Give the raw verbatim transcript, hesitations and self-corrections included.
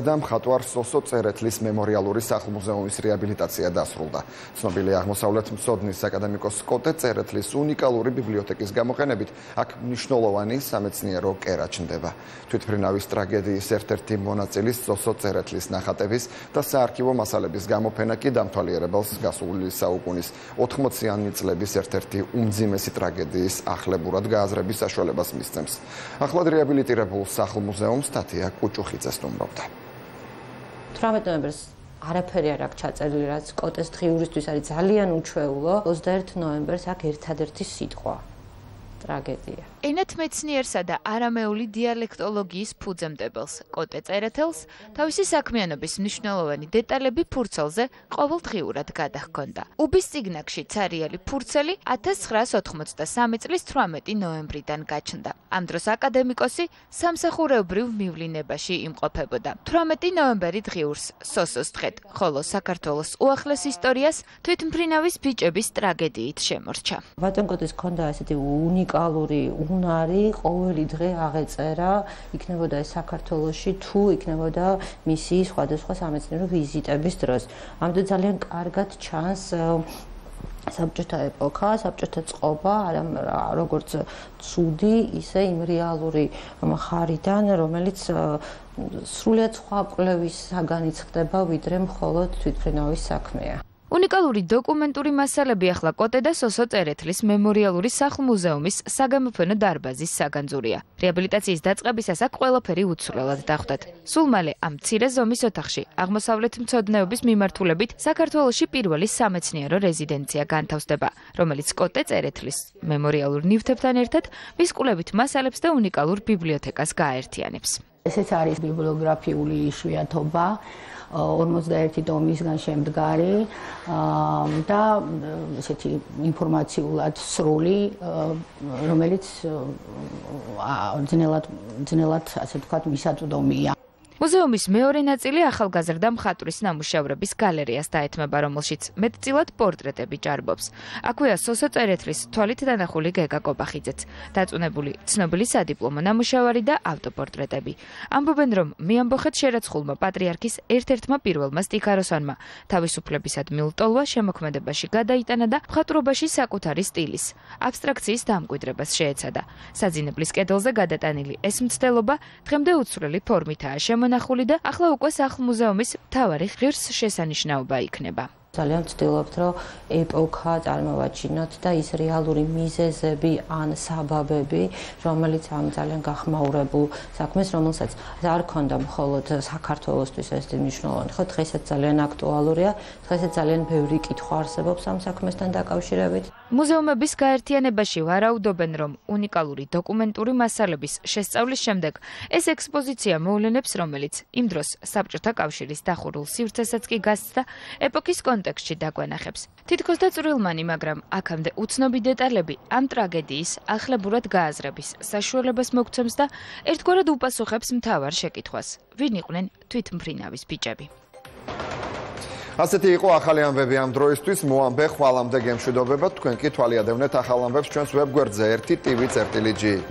და მხატვარ სოსო წერეთლის მემორიალური სახლ-მუზეუმის რეაბილიტაცია დასრულდა. ცნობილი აღმოსავლეთ მცოდნის აკადემიკოს კოტე წერეთლის უნიკალური ბიბლიოთეკის გამოყენებით აქ მნიშვნელოვანი სამეცნიერო კერა ჩნდება. თვითმფრინავის ტრაგედიის ერთ-ერთი მონაწილის სოსო წერეთლის ნახატების და საარქივო მასალების გამოფენა კი დამთვალიერებელს გასული საუკუნის ოთხმოციანი წლების ერთ-ერთი უმძიმესი ტრაგედიის ახლებურად გააზრების საშუალებას მისცემს. ახლად რეაბილიტირებულ სახლ-მუზეუმს თათია კუჭუხიძე სტუმრობდა. თვრამეტ ნოემბერს არაფერი არ აქვს ჩაწერილი, რაც კოტეს დღიურისთვის არის ძალიან უჩვეულო. ოცდაერთი ნოემბერს აქ ერთადერთი სიტყვა ტრაგედია. ენათმეცნიერსა და არამეული დიალექტოლოგიის ფუძემდებელს კოტე წერეთელს თავისი საქმიანობის მნიშვნელოვანი დეტალები ფურცელზე ყოველდღიურად გადაჰქონდა. უბის წიგნაკში ცარიელი ფურცელი ათას ცხრაას ოთხმოცდასამი წლის თვრამეტი ნოემბრიდან გაჩნდა. ამ დროს აკადემიკოსი სამსახურეობრივ მივლინებაში იმყოფებოდა. თვრამეტი ნოემბერი დღიურს სოსოს დღედ, ხოლო საქართველოს უახლეს ისტორიას თვითმფრინავის ბიჭების ტრაგედიით შემორჩა. ბატონ კოტეს ჰქონდა ესეთი უნიკალური უნარი, ყოველი დღე აღეწერა, იქნებოდა ეს საქართველოში თუ იქნებოდა მისი სხვადასხვა სამეცნიერო ვიზიტების დროს. ამიტომ ძალიან კარგად ჩანს საბჭოთა ეპოქა, საბჭოთა წყობა, როგორც ცუდი, ისე იმ რეალური მხარიდან, რომელიც სრულიად სხვა კვლევის საგანიც ხდება, ვიდრე მხოლოდ თვითმფრინავის საქმეა. უნიკალური დოკუმენტური მასალები ახლა კოტე და სოსო წერეთლის მემორიალური სახლ-მუზეუმის საგამოფენო დარბაზის საგანძურია. რეაბილიტაციის დაწყებისას აქ ყველაფერი უცვლელად დახვდათ. სულ მალე ამ მცირე ზომის ოთახში აღმოსავლეთ მცოდნეობის მიმართულებით საქართველოში პირველი სამეცნიერო რეზიდენცია განთავსდება, რომელიც კოტე წერეთლის მემორიალურ ნივთებთან ერთად მის კვლევით მასალებს და უნიკალურ ბიბლიოთეკას გააერთიანებს. ესეც არის ბიბლიოგრაფიული იშვიათობა, ორმოცდაერთი ტომისგან შემდგარი და ესეთი ინფორმაციულად სრული, რომელიც ძნელად ძნელად ასე ვთქვათ მისაწვდომია. მუზეუმის მეორე ნაწილი ახალგაზრდა მხატვრის ნამუშევრების გალერეას დაეთმება, რომელშიც მეტწილად პორტრეტები ჭარბობს. აქვეა სოსო წერეთლის თვალით დანახული გეგა კობახიძეც, დაწუნებული ცნობილი სადიპლომო ნამუშევარი და ავტოპორტრეტები. ამბობენ, რომ მეამბოხეთ შერაცხულმა პატრიარქის ერთ-ერთმა პირველმა სტიქაროსანმა თავისუფლებისადმი ლტოლვა შემოქმედებაში გადაიტანა და მხატვრობაში საკუთარი სტილის, აბსტრაქციის დამკვიდრებას შეეცადა. საძინებლის კედელზე გადატანილი ეს მცდელობა დღემდე უცვლელი ფორმითაა შემონახული და ახლა უკვე სახლ-მუზეუმის მთავარი ღირსშესანიშნაობა იქნება. ძალიან ვცდილობთ, რომ ეპოქა წარმოვაჩინოთ და ის რეალური მიზეზები ან საბაბები, რომელიც ამ ძალიან გახმაურებულ საქმეს, რომელსაც არ ქონდა მხოლოდ საქართველოსთვის ეს მნიშვნელოვანი, ხო, დღესაც ძალიან აქტუალურია, დღესაც ძალიან ბევრი კითხვა არსებობს ამ საქმესთან დაკავშირებით. მუზეუმების გაერთიანებაში ვარაუდობენ, რომ უნიკალური დოკუმენტური მასალების შესწავლის შემდეგ ეს ექსპოზიცია მოვლენებს, რომელიც იმ დროს საბჭოთა კავშირის დახურულ სივრცესაც კი გასცდა ეპოქის კონტექსტში დაგვენახებს. თითქოს და წვრილმანი, მაგრამ აქამდე უცნობი დეტალები ამ ტრაგედიის ახლებურად გააზრების საშუალებას მოგცემს და ერთგვარად უპასუხებს მთავარ შეკითხვას: ვინ იყვნენ თვითმფრინავის ბიჭები? ასეთი იყო ახალი ამბები ამ დროისთვის. მოამბე ხვალამდე გემშვიდობებად, თქვენ კი თვალიადევნეთ ახალ ამბებს ჩვენს ვებგვერდზე ერთი ტივი წერტილი ჯი.